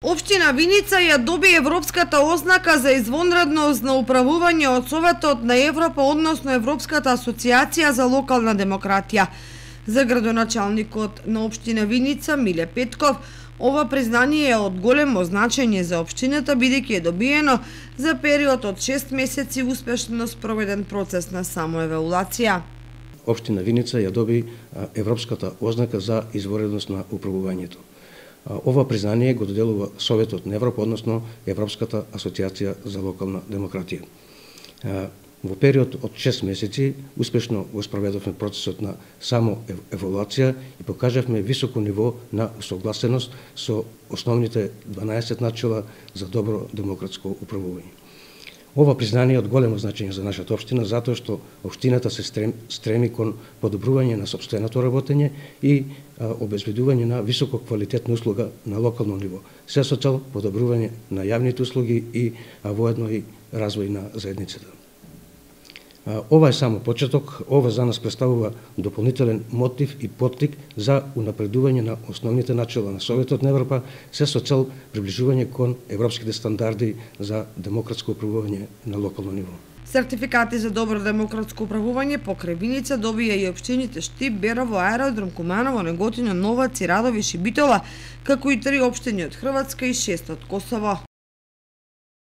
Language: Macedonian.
Општина Виница ја доби европската ознака за извонредност на управување од Советот на Европа, односно Европската асоциација за локална демократија. За градоначалникот на општина Виница Миле Петков, ова признание е од големо значење за општината, бидејќи е добиено за период од 6 месеци успешно спроведен процес на самоевалуација. Општина Виница ја доби европската ознака за извонредност на управувањето. Ова признание го доделува Советот на Европа, односно Европската асоциација за локална демократија. Во период од 6 месеци успешно го спроведовме процесот на самоевалуација и покажавме високо ниво на согласеност со основните 12 начела за добро демократско управување. Ова признание е од големо значење за нашата општина, затоа што општината се стреми кон подобрување на сопственото работење и обезбедување на високо квалитетна услуга на локално ниво, се со цел подобрување на јавните услуги и воедно и развој на заедницата. Ова е само почеток, ова за нас представува дополнителен мотив и поттик за унапредување на основните начела на Советот на Европа, се со цел приближување кон европските стандарди за демократско управување на локално ниво. Сертификати за добро демократско управување покрај Виница добија и општините Штип, Берово, Аеродром, Куманово, Неготино, Новац, Радови, Шибитола, како и 3 општини од Хрватска и 6 од Косово.